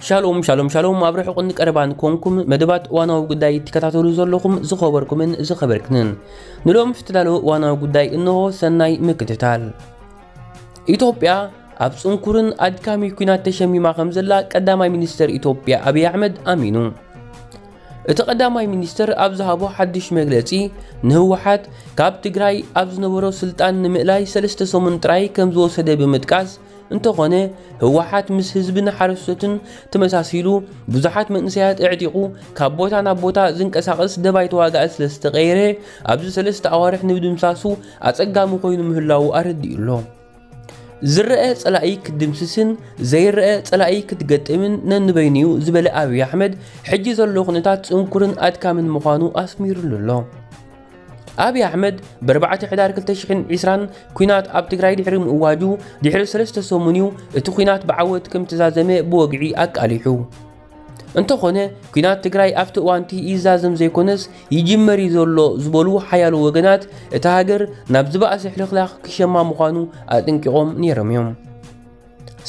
ሻሎም ሻሎም ሻሎም፣ ኣብ ርሑቕን ቀረባን ኮንኩም መደባት እዋናዊ ጉዳይ ትከታተሉ ዘለኹም ዝኸበርኩምን ዝኸበርክንን፣ ንሎም ዝተዳለወ እዋናዊ ጉዳይ እንሆ። ሰናይ ምክትታል። ኢትዮጵያ ኣብ ጽንኩርን ኣድካሚ ኲናት ተሸሚማ ከም ዘላ ቀዳማይ ሚኒስተር ኢትዮጵያ ኣብይ ኣሕመድ ኣሚኑ። እቲ ቀዳማይ ሚኒስተር ኣብ ዝሃቦ ሓድሽ መግለጺ፣ ንህወሓት ካብ ትግራይ ኣብ ዝነበሮ ስልጣን ንምእላይ ሰለስተ ሰሙን ጥራይ ከም ዝወሰደ ብምጥቃስ፣ እንተኾነ ህወሓት ምስ ህዝብን ሓረስቶትን ተመሳሲሉ ብዙሓት መንእሰያት ኣዕጢቑ ካብ ቦታ ናብ ቦታ ዝንቀሳቐስ ደባይ ተዋጋኢ ስለ ዝተቐየረ፣ ኣብዚ ሰለስተ ኣዋርሕ ንምድምሳሱ ኣጸጋሚ ኮይኑ ምህላዉ ኣረዲኡ ኣሎ። ዝረአ ጸላኢ ክትድምስስን ዘይረአ ጸላኢ ክትገጥምን ነንበይኑ እዩ ዝበለ ኣብይ ኣሕመድ፣ ሕጂ ዘሎ ኩነታት ጽንኩርን ኣድካምን ምዃኑ ኣስሚሩሉ ኣሎ። ኣብይ ኣሕመድ ብኣርባዕተ ሕዳር ክልተ ሽሕን ዕስራን ኲናት ኣብ ትግራይ ድሕሪ ምእዋጁ ድሕሪ ሰለስተ ሰሙን እዩ እቲ ኲናት ብዓወት ከም ተዛዘመ ብወግዒ ኣቃሊሑ። እንተኾነ ኲናት ትግራይ ኣብቲ እዋንቲ ይዛዘም ዘይኮነስ ይጅመር እዩ ዘሎ ዝበሉ ሓያሎ ወገናት፣ እታ ሃገር ናብ ዝበኣሰ ሕልኽላኽ ክሸማ ምዃኑ ኣጠንቂቖም ነይሮም እዮም።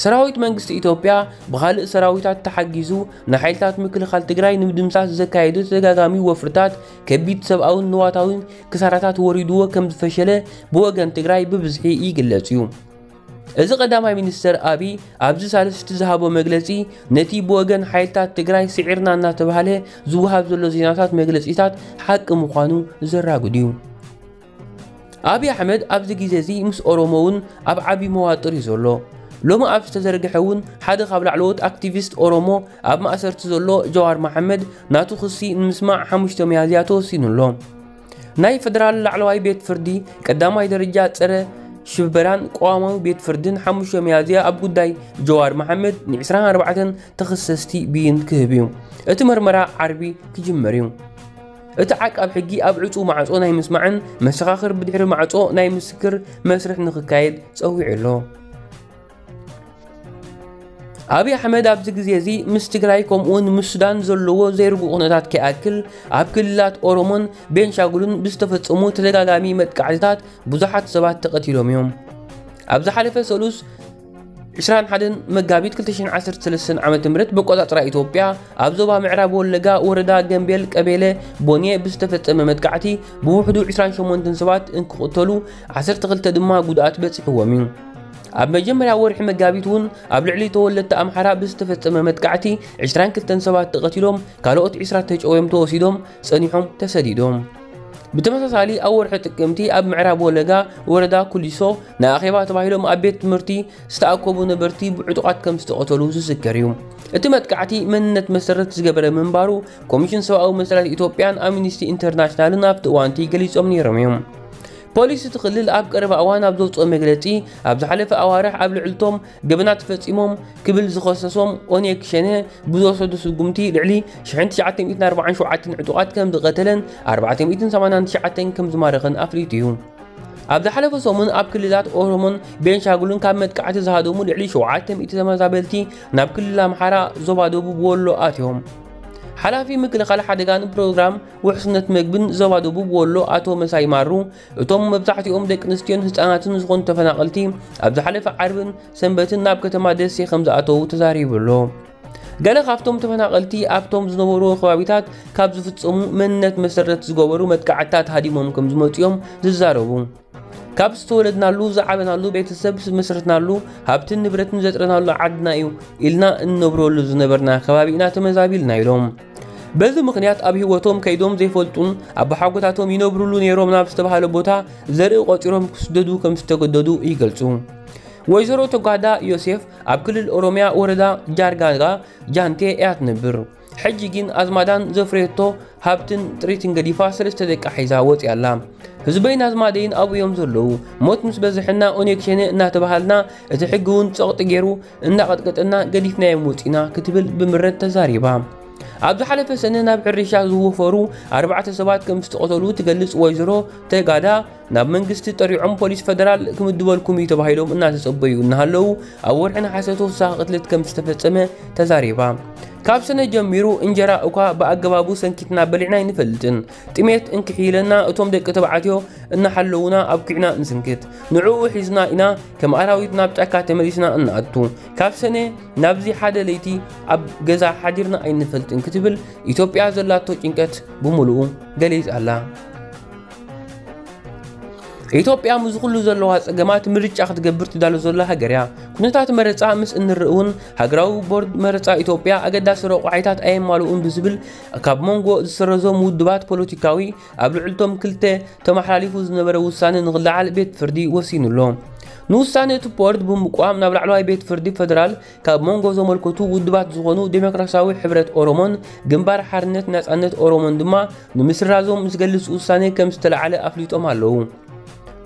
ሰራዊት መንግስቲ ኢትዮጵያ ብኻልእ ሰራዊታት ተሓጊዙ ንሓይልታት ምክልኻል ትግራይ ንምድምሳስ ዘካየዶ ተደጋጋሚ ወፍርታት ከቢድ ሰብኣውን ንዋታውን ክሳራታት ወሪድዎ ከም ዝፈሸለ ብወገን ትግራይ ብብዝሒ ይግለጽ እዩ። እዚ ቀዳማይ ሚኒስተር ኣብይ ኣብዚ ሳልስቲ ዝሃቦ መግለጺ፣ ነቲ ብወገን ሓይልታት ትግራይ ስዒርና እናተባህለ ዝወሃብ ዘሎ ዜናታት መግለጺታት ሓቂ ምዃኑ ዘራጉድ እዩ። ኣብይ ኣሕመድ ኣብዚ ግዜ እዚ ምስ ኦሮሞ እውን ኣብ ዓቢ መዋጥር እዩ ዘሎ። ሎሚ ኣብ ዝተዘርግሐ እውን ሓደ ካብ ላዕለዎት ኣክቲቪስት ኦሮሞ ኣብ ማእሰርቲ ዘሎ ጀዋር መሓመድ ናቱ ክሲ ንምስማዕ ሓሙሽተ ሚያዝያ ተወሲኑ ኣሎ። ናይ ፈደራል ላዕለዋይ ቤት ፍርዲ ቀዳማይ ደረጃ ጸረ ሽበራን ቅዋማዊ ቤት ፍርድን ሓሙሽተ ሚያዝያ ኣብ ጉዳይ ጀዋር መሓመድ ን ዕስራን ኣርባዕተን ተኸሰስቲ ብይን ክህብ እዩ። እቲ መርመራ ዓርቢ ክጅመር እዩ። እቲ ዓቃብ ሕጊ ኣብ ዕጹው ማዕጾ ናይ ምስማዕን መሰኻኽር ብድሕሪ ማዕጾ ናይ ምስክር መስርሕ ንኽካየድ ጸዊዑ ኣሎ። ኣብይ ኣሕመድ ኣብዚ ግዜ እዚ ምስ ትግራይ ከምኡውን ምስ ሱዳን ዘለዎ ዘይርጉእ ኩነታት ከይኣክል ኣብ ክልላት ኦሮሞን ቤንሻጉልን ብዝተፈጸሙ ተደጋጋሚ መጥቃዕትታት ብዙሓት ሰባት ተቐቲሎም እዮም። ኣብ ዝሓለፈ ሰሉስ ዕስራን ሓደን መጋቢት ክልተ ሽሕን ዓሰርተ ሰለስተን ዓመተ ምህረት ብቆጻጽራ ኢትዮጵያ ኣብ ዞባ ምዕራብ ወለጋ ወረዳ ገምቤል ቀቤለ ቦኔ ብዝተፈጸመ መጥቃዕቲ ብውሕዱ ዕስራን ሸሞንተን ሰባት እንክቕተሉ ዓሰርተ ክልተ ድማ ጉድኣት በጺሕዎም እዩ። ኣብ መጀመርያ ወርሒ መጋቢት እውን ኣብ ልዕሊ ተወለድቲ ኣምሓራ ብዝተፈጸመ መጥቃዕቲ ዕስራን ክልተን ሰባት ተቐቲሎም፣ ካልኦት ዕስራ ተጨውዮም ተወሲዶም፣ ጸኒሖም ተሰዲዶም። ብተመሳሳሊ ኣብ ወርሒ ጥቅምቲ ኣብ ምዕራብ ወለጋ ወረዳ ኩሊሶ ንኣኼባ ተባሂሎም ኣብ ቤት ትምህርቲ ዝተኣከቡ ነበርቲ ብዕጡቓት ከም ዝተቐተሉ ዝዝከር እዩ። እቲ መጥቃዕቲ መንነት መሰረት ዝገበረ ምንባሩ ኮሚሽን ሰብኣዊ መሰላት ኢትዮጵያን ኣምኒስቲ ኢንተርናሽናልን ኣብቲ እዋንቲ ገሊጾም ነይሮም እዮም። ፖሊስ እቲ ክልል ኣብ ቀረባ እዋን ኣብ ዘውፅኦ መግለፂ፣ ኣብ ዝሓለፈ ኣዋርሕ ኣብ ልዕልቶም ገበናት ፈፂሞም ክብል ዝኸሰሶም ኦኔግ ሸኔ ብዝወሰዶ ስጉምቲ ልዕሊ ሽሕን ትሽዓተ ሚእትን ኣርባዓን ሸውዓተን ዕጡቓት ከም ዝቐተለን ኣርባዕተ ሚእትን ሰማንያን ትሽዓተን ከም ዝማረኸን ኣፍሊጡ እዩ። ኣብ ዝሓለፈ ሰሙን ኣብ ክልላት ኦሮሞን ቤንሻጉልን ካብ መጥቃዕቲ ዝሃደሙ ልዕሊ ሸውዓተ ሚእቲ ተመዛበልቲ ናብ ክልል ኣምሓራ ዞባ ደቡብ ወሎ ኣትዮም። ሓላፊ ምክልኻል ሓደጋን ፕሮግራም ውሕስነት መግብን ዞባ ደቡብ ወሎ ኣቶ መሳይ ማሩ፣ እቶም መብዛሕትኦም ደቂ ኣንስትዮን ህፃናትን ዝኾኑ ተፈናቐልቲ ኣብ ዝሓለፈ ዓርብን ሰንበትን ናብ ከተማ ደሴ ከም ዝኣተዉ ተዛሪቡ ኣሎ። ገለ ካብቶም ተፈናቐልቲ ኣብቶም ዝነበሩ ከባቢታት ካብ ዝፍፀሙ መንነት መሰረት ዝገበሩ መጥቃዕትታት ሃዲሞም ከም ዝመፅኦም ዝዛረቡ፣ ካብ ዝተወለድናሉ ዝዓበናሉ ቤተሰብ ዝመስረትናሉ ሃብትን ንብረትን ዘጥረናሉ ዓድና እዩ ኢልና እንነብረሉ ዝነበርና ከባቢ ኢና ተመዛቢልና ኢሎም። በዚ ምኽንያት ኣብ ህይወቶም ከይዶም ዘይፈልጡን ኣቦሓጎታቶም ይነብሩሉ ነይሮም ናብ ዝተባህለ ቦታ ዘርኢ ቆፂሮም ክስደዱ ከም ዝተገደዱ ይገልፁ። ወይዘሮ ተጓዳ ዮሴፍ ኣብ ክልል ኦሮሚያ ወረዳ ጃርጋጋ ጃንቴ እያ ትነብር። ሕጂ ግን ኣዝማዳን ዘፍረየቶ ሃብትን ጥሪትን ገዲፋ ሰለስተ ደቃ ሒዛ ወፂኣ ኣላ። ህዝበይን ኣዝማደይን ኣብኡ እዮም ዘለዉ። ሞት ምስ በዝሐና ኦኔግ ሸኔ እናተባሃልና፣ እቲ ሕጊ እውን ጸቕጢ ገይሩ እናቐጥቀጠና ገዲፍናዮም ወፂና ክትብል ብምረት ተዛሪባ። ኣብ ዝሓለፈ ሰነ ናብ ሕርሻ ዝወፈሩ ኣርባዕተ ሰባት ከም ዝተቐተሉ ትገልጽ ወይዘሮ ተጋዳ፣ ናብ መንግስቲ ጠሪዖም ፖሊስ ፈደራል ክምድበልኩም እዩ ተባሂሎም እናተጸበዩ እናሃለዉ ኣብ ወርሒ ነሓሰ ተወሳኺ ቅትለት ከም ዝተፈጸመ ተዛሪባ። ካብ ሰነ ጀሚሩ እንጀራ እኳ ብኣገባቡ ሰንኪትና በሊዕና ኣይንፈልጥን። ጥሜት እንክሕይለና እቶም ደቂ ተባዕትዮ እናሓለዉና ኣብኪዕና ንስንክት። ንዕኡ ሒዝና ኢና ከም ኣራዊት ናብ ጫካ ተመሊስና እንኣቱ። ካብ ሰነ ናብዚ ሓደ ለይቲ ኣብ ገዛ ሓዲርና ኣይንፈልጥን ክትብል ኢትዮጵያ ዘላቶ ጭንቀት ብምሉኡ ገሊጻ ኣላ። ኢትዮጵያ ምስ ኩሉ ዘለዋ ጸገማት ምርጫ ክትገብር ትዳሎ ዘላ ሃገር እያ። ኩነታት መረጻ ምስ እንርኢ እውን ሃገራዊ ቦርድ መረጻ ኢትዮጵያ ኣገዳሲ ረቑሒታት ኣየማልኡን ብዝብል ካብ መንጎ ዝሰረዞም ውድባት ፖለቲካዊ ኣብ ልዕልቶም ክልተ ተመሓላሊፉ ዝነበረ ውሳነ ንኽለዓል ቤት ፍርዲ ወሲኑ ኣሎ። ንውሳነ እቲ ቦርድ ብምቋም ናብ ላዕለዋይ ቤት ፍርዲ ፈደራል ካብ መንጎ ዘመልከቱ ውድባት ዝኾኑ ዴሞክራሲያዊ ሕብረት ኦሮሞን ግንባር ሓርነት ናጻነት ኦሮሞን ድማ ንምስራዞም ዝገልጽ ውሳኔ ከም ዝተለዓለ ኣፍሊጦም ኣለዉ።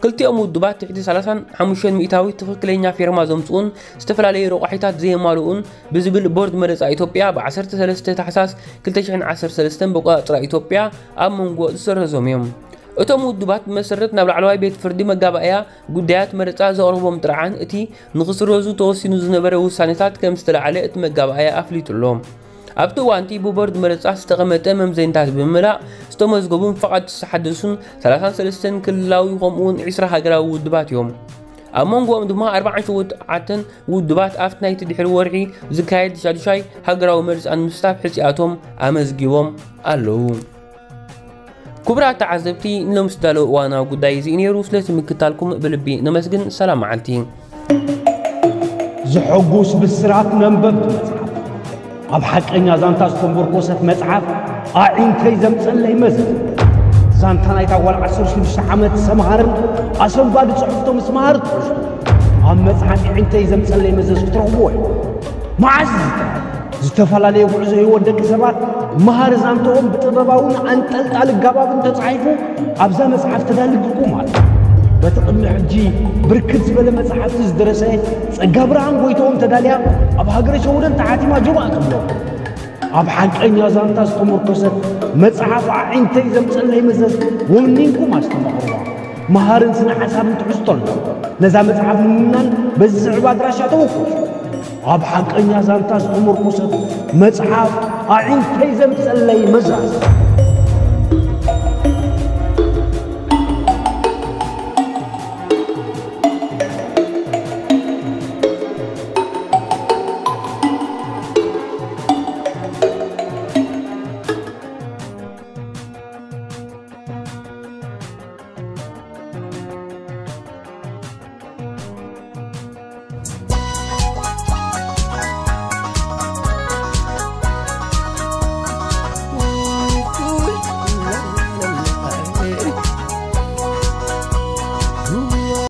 ክልቲኦም ውድባት ትሕቲ ሰላሳን ሓሙሽተን ሚእታዊት ትኽክለኛ ፌርማ ዘምጽኡን ዝተፈላለዩ ረቋሒታት ዘየማልኡን ብዝብል ቦርድ መረጻ ኢትዮጵያ ብ ዓሰርተ ሰለስተ ታሕሳስ ክልተ ሽሕን ዓሰርተ ሰለስተን በቆጻጽራ ኢትዮጵያ ኣብ መንጎ ዝሰረዞም እዮም። እቶም ውድባት ብመሰረት ናብ ላዕለዋይ ቤት ፍርዲ መጋባእያ ጉዳያት መረጻ ዘቕርቦም ጥርዓን እቲ ንኽስረዙ ተወሲኑ ዝነበረ ውሳኔታት ከም ዝተለዓለ እቲ መጋባእያ ኣፍሊጡ ኣሎ። ኣብቲ እዋንቲ ብቦርድ መረጻ ዝተቐመጠ መምዘኒታት ብምምላእ ዝተመዝገቡን ፍቓድ ዝተሓደሱን ሰላሳን ሰለስተን ክልላዊ ከምኡውን ዕስራ ሃገራዊ ውድባት እዮም። ኣብ መንጎኦም ድማ ኣርባዓን ሸውዓተን ውድባት ኣብቲ ናይቲ ድሕሪ ወርሒ ዝካየድ ሻዱሻይ ሃገራዊ መርጻ ንምስታፍ ሕጺኣቶም ኣመዝጊቦም ኣለዉ። ክቡራት ተዓዘብቲ፣ ንሎምስ ዳሎ እዋናዊ ጉዳይ እዚ ነይሩ። ስለቲ ምክታልኩም ብልቢ ነመስግን። ሰላም መዓልቲ። ዘሐጉስ ብስራት መንበብቲ መጽሓፍ። ኣብ ሓቀኛ ዛንታ ዝተመርኮሰት መጽሓፍ ኣዒንተይ ዘምጸለይ መዘዝ። ዛንታ ናይታ ጓል ዓሰርተ ሽዱሽተ ዓመት ሰምሃርን ኣሰንባዲ ጽሑፍቶ ምስ መሃር ትሕዝቶ ኣብ መጽሓፍ ኣዒንተይ ዘምጸለይ መዘዝ ክትረኽብዎ ኢኹም። መዓስ ዝጥራይ ዝተፈላለየ ጉዕዞ ህይወት ደቂ ሰባት መሃሪ ዛንትኦም ብጥበባውን ኣንጠልጣሊ ኣገባብን ተጻሒፉ ኣብዛ መጽሓፍ ተዳልግኩም ኣሎ። በቲ ቅድሚ ሕጂ ብርክት ዝበለ መጽሓፍቲ ዝደረሰ ጸጋብርሃን ጎይትኦም ተዳልያ ኣብ ሃገረ ሸወደን ተሓቲማ ጆባእ ትብሎ። ኣብ ሓቀኛ ዛንታ ዝተመርኮሰት መጽሓፍ ኣዒንተይ ዘምጸለይ መዘዝ ወኒንኩም ኣስተማቕርዋ። መሃርን ስነ ሓሳብን ትሕዝቶ ኣሎ። ነዛ መጽሓፍ ንምውናን በዚ ዝስዕብ ኣድራሻ ተወከሱ። ኣብ ሓቀኛ ዛንታ ዝተመርኮሰት መጽሓፍ ኣዒንተይ ዘምጸለይ መዘዝ።